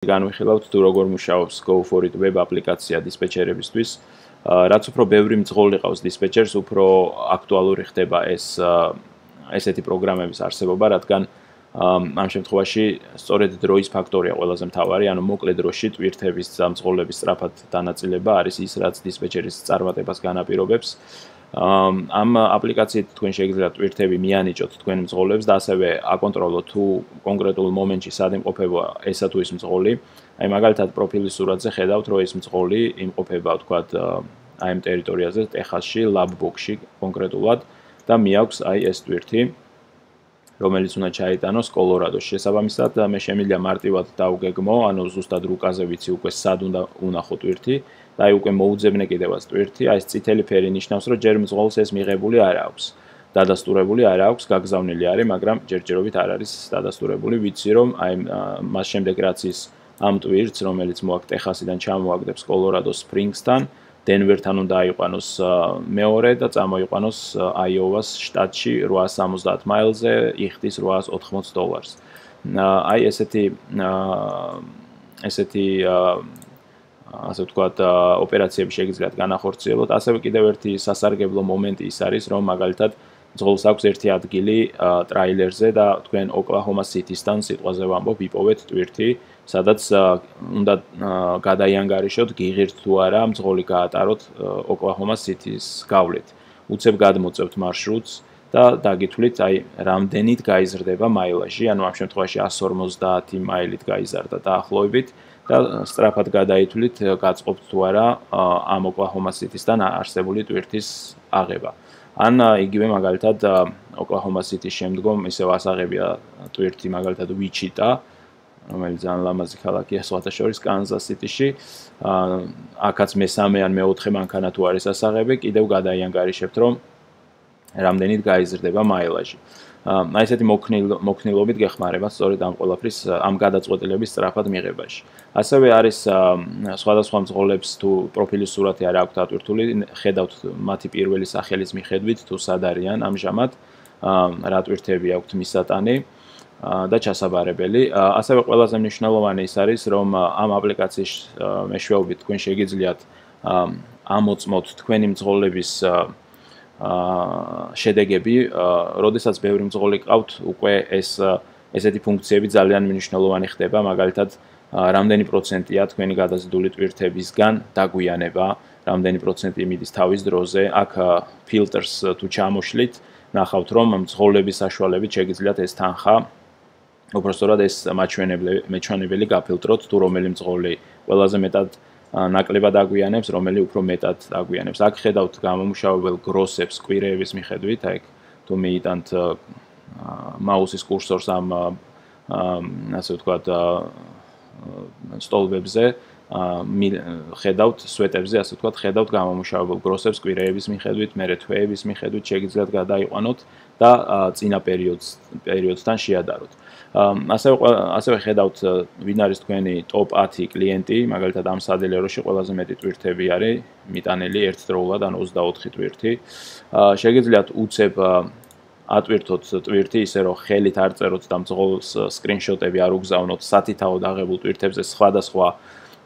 განვიხილავთ თუ როგორ მუშაობს Go for it web აპლიკაცია დისპეჩერებისთვის. რაც უფრო ბევრი მძღოლი ყავს დისპეჩერს, უფრო აქტუალური ხდება ესეთი პროგრამების არსებობა, რადგან ამ შემთხვევაში სწორედ დროის ფაქტორია ყველაზე მთავარი, ანუ მოკლე დროში ტვირთების მძღოლების სწრაფად დანაწილება არის ის, რაც დისპეჩერის წარმატებას განაპირობებს. ამ აპლიკაციით თქვენ შეგიძლიათ ტვირთები მიანიჭოთ თქვენ მძღოლებს და ასევე აკონტროლოთ თუ კონკრეტულ მომენტში სად იმყოფება ესა თუ ის მძღოლი. აი მაგალითად პროფილის სურათზე ხედავთ, რომ ეს მძღოლი იმყოფება თქვათ აი ამ ტერიტორიაზე, ტეხასში, ლაბბოქში კონკრეტულად და მიაქვს აი ეს ტვირთი, რომელიც უნდა ჩაიტანოს კოლორადოში. შესაბამისად, მე შემიძლია მარტივად დავგეგმო, ანუ ზუსტად რუკაზე ვიცი უკვე სად უნდა უნახო ტვირთი და აი უკვე მოუძებნე კიდევაც ტვირთი, აი ეს წითელი ფერი ნიშნავს, რომ ჯერ მძღოლს ეს მიღებული არ აქვს. დადასტურებული არ აქვს, გაგზავნილი არის, მაგრამ ჯერჯერობით არ არის დადასტურებული. ვიცი რომ აი მას შემდეგ რაც ის ამ ტვირთს, რომელიც მოაქვს ტეხასიდან ჩამოაგდებს კოლორადოს სპრინგსთან, დენვერთან უნდა აიყვანოს მეორე და წამოიყვანოს აიოვას შტატში 870 მაილზე, იხდის $880. აი ესეთი ასე ვთქვათ, ოპერაციები შეგიძლიათ განახორციელოთ. ასევე კიდევ ერთი სასარგებლო მომენტი ის არის, რომ მაგალითად მძღოლს აქვს ერთი ადგილი ტრაილერზე და თქვენ ოკლაჰომა სიტისთან სიტყვაზე ვამბობ, იპოვეთ ტვირთი, სადაც უნდა გადაიანგარიშოთ, გიღირთ თუ არა, მძღოლი გაატაროთ ოკლაჰომა სიტის გავლით. უცებ გადმოწევთ მარშრუტს და დაგითვლით, აი რამდენით გაიზრდება მაილაჟი, ანუ ამ შემთხვევაში 150 მაილით გაიზარდა დაახლოებით და სწრაფად გადაითვლით, გაწყობთ თუ არა ამ ოკლაჰომა სიტისთან არსებული ტვირთის აღება. ან იგივე მაგალითად ოკლაჰომა სიტის შემდგომ ისევ ასაღებია ტვირთი მაგალითად ვიჩიტა, რომელიც ძალიან ლამაზი ქალაქია სხვათა შორის კანზას სიტიში. აქაც მესამე ან მეოთხე მანქანა თუ არის ასაღები, კიდევ გადაიანგარიშებთ, რომ რამდენით გაიზრდება მაილაჟი. აი ესეთი მოქნილობით გეხმარება სწორედ ამ ყველაფრის ამ გადაწყვეტილების სწრაფად მიღებაში. ასევე არის სხვადასხვა მძღოლებს თუ პროფილის სურათი არ აქვთ ატვირთული, ხედავთ მათი პირველი სახელის მიხედვით თუ სად არიან ამჟამად, რა ტვირთები აქვთ მისატანი და ჩასაბარებელი. ასევე ყველაზე მნიშვნელოვანი ის არის, რომ ამ აპლიკაციის მეშვეობით თქვენ შეგიძლიათ ამოწმოთ თქვენი მძღოლების შედეგები, როდესაც ბევრი მძღოლი ყავთ, უკვე ესეთი ფუნქციები ძალიან მნიშვნელოვანი ხდება, მაგალითად, რამდენი პროცენტია თქვენი გადაზიდული ტვირთებისგან დაგვიანება, რამდენი პროცენტი მიდის თავის დროზე. აქ ფილტრს თუ ჩამოშლით, ნახავთ, რომ მძღოლების საშუალებით შეგიძლიათ ეს თანხა, უпростоრად ეს მაჩვენებელი გაფილტროთ, თუ რომელი მძღოლი ყველაზე მეტად ნაკლებად აგვიანებს, რომელი უფრო მეტად აგვიანებს. აქ ხედავთ გამომუშავებელ გროსებს კვირეების მიხედვით, აი თუ მიიტანთ მაუსის კურსორს ამ ასე ვთქვათ სტოლბებზე, ხედავთ სვეტებზე, ასე ვთქვათ, ხედავთ გამომუშავებელ გროსებს კვირეების მიხედვით, მერე თვეების მიხედვით შეგიძლიათ გადაიყვანოთ და წინა პერიოდთან შეადაროთ. ასევე ხედავთ ვინ არის თქვენი ტოპ 10 კლიენტი, მაგალითად ამ სადელეროში ყველაზე მეტი ტვირთები არის მიტანილი ერთდროულად, ანუ 24 ტვირთი. შეგიძლიათ უცებ ატვირთოთ ტვირთი ისე რომ ხელით არ წეროთ და მძღოლს სკრინშოტები არ უგზავნოთ სათითაოდ აღებულ ტვირთებზე სხვადასხვა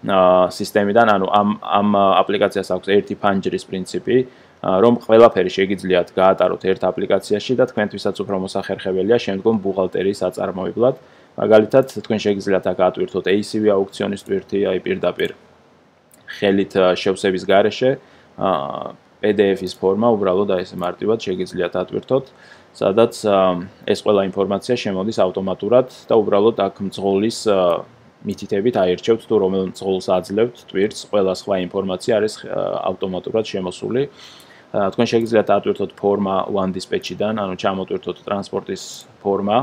სისტემიდან, ანუ ამ აპლიკაციას აქვს ერთი ფანჯრის პრინციპი, რომ ყველაფერი შეგიძლიათ გაატაროთ ერთ აპლიკაციაში და თქვენთვისაც უფრო მოსახერხებელია შემდგომ ბუღალტერიის აწარმოებლად. მაგალითად, თქვენ შეგიძლიათ აქ ატვირთოთ ACV აუქციონის ტვირთი, აი პირდაპირ ხელით შევსების გარეშე, PDF-ის ფორმა, უბრალოდ აი ესე მარტივად შეგიძლიათ ატვირთოთ, სადაც ეს ყველა ინფორმაცია შემოდის ავტომატურად და უბრალოდ აქ მძღოლის მითითებით აირჩევთ თუ რომელ მძღოლს აძლევთ ტვირთს, ყველა სხვა ინფორმაცია არის ავტომატურად შემოსული. თქვენ შეგიძლიათ ატვირთოთ ფორმა One Dispatch-დან, ანუ ჩამოტვირთოთ ტრანსპორტის ფორმა,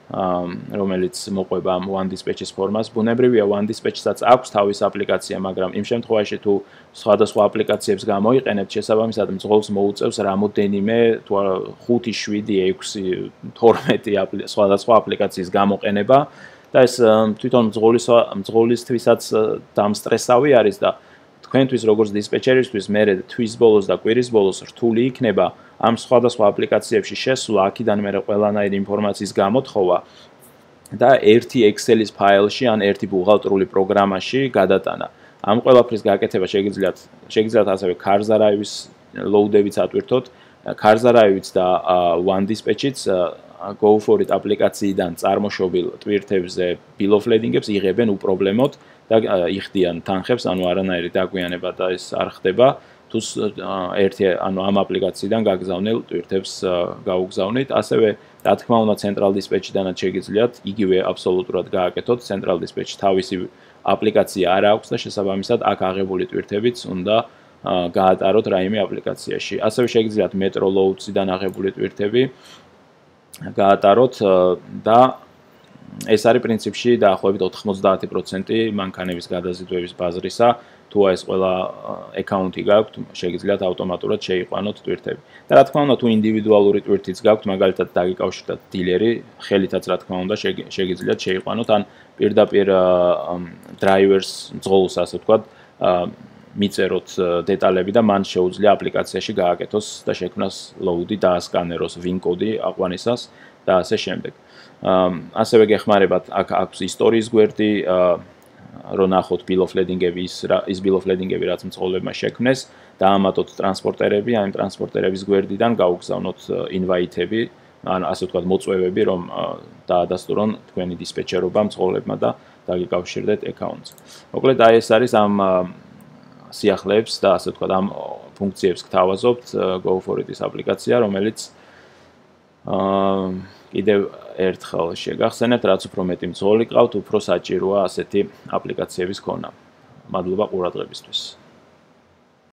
რომელიც მოყვება ამ One Dispatch-ის ფორმას. ბუნებრივია One Dispatch-საც აქვს თავის აპლიკაცია, მაგრამ იმ შემთხვევაში თუ სხვადასხვა აპლიკაციებს გამოიყენებთ, შესაბამისად მძღოლს მოუწევს რამოდენიმე, თუ არა 5, 7, 6, 12 სხვადასხვა აპლიკაციის გამოყენება და ეს თვითონ მძღოლისთვისაც დამსტრესავი არის და თქვენთვის როგორც დისპეჩერისთვის მერე თვის ბოლოს და კვირის ბოლოს რთული იქნება ამ სხვადასხვა აპლიკაციებში შესვლა, აქედან მერე ყველანაირი ინფორმაციის გამოთხოვა და ერთი Excel-ის ფაილში ან ერთი ბუღალტრული პროგრამაში გადატანა. ამ ყველაფრის გაკეთება შეგიძლიათ ასევე Cars.io-ის load-ებიც ატვირთოთ. Cars.io-იც და OneDispatch-იც Go for it აპლიკაციიდან წარმოშობილ ტვირთებზე bill of lading-ებს იღებენ უპრობლემოდ და იხდიან თანხებს, ანუ არანაირი დაგვიანება და ეს არ ხდება. თუ ამ აპლიკაციიდან გაგზავნილ ტვირთებს გაუგზავნით, ასევე რა თქმა უნდა Central Dispatch-დანაც შეგიძლიათ იგივე აბსოლუტურად გააკეთოთ. Central Dispatch თავისი აპლიკაცია არ აქვს და შესაბამისად აქ აღებული ტვირთებიც უნდა გაატაროთ რაიმე აპლიკაციაში. ასევე შეგიძლიათ Metro Loads-დან აღებული ტვირთები გაატაროთ და ეს არის პრინციპში დაახლოებით 90% მანქანების გადაზიდვების ბაზრისა. თუ ეს ყველა აკაუნტი გაქვთ, შეგიძლიათ ავტომატურად შეიყვანოთ ტვირთები. და რა თქმა უნდა, თუ ინდივიდუალური ტვირთიც გაქვთ, მაგალითად დაგიკავშირდათ დილერი, ხელითაც რა თქმა უნდა შეგიძლიათ შეიყვანოთ, ან პირდაპირ დრაივერს ძღოლს, ასე ვთქვათ, მიწეროთ დეტალები და მან შეუძლია აპლიკაციაში გააკეთოს და შექმნას load-ი, დაასკანეროს VIN კოდი აყვანისას და ასე შემდეგ. ასევე გეხმარებათ აქ აქვს ისტორიის გვერდი, რომ ნახოთ bill of lading-ები ის bill of lading-ები რაც მწყობლებმა შექმნეს, დაამატოთ ტრანსპორტერები, ან ტრანსპორტერების გვერდიდან გაუგზავნოთ invite-ები, ან ასე ვთქვათ მოწვევები, რომ დაადასტურონ თქვენი დისპეჩერობა მწყობლებმა და დაგიკავშირდეთ აკაუნტს. მოკლედ აი ეს არის ამ სიახლეებს და ასე ვთქვათ ამ ფუნქციებს გთავაზობთ Go for it-ის აპლიკაცია, რომელიც კიდევ ერთხელ შეგახსენებთ, რაც უფრო მეტი მძღოლი გყავთ, უფრო საჭიროა ასეთი აპლიკაციების ქონა. მადლობა ყურადღებისთვის.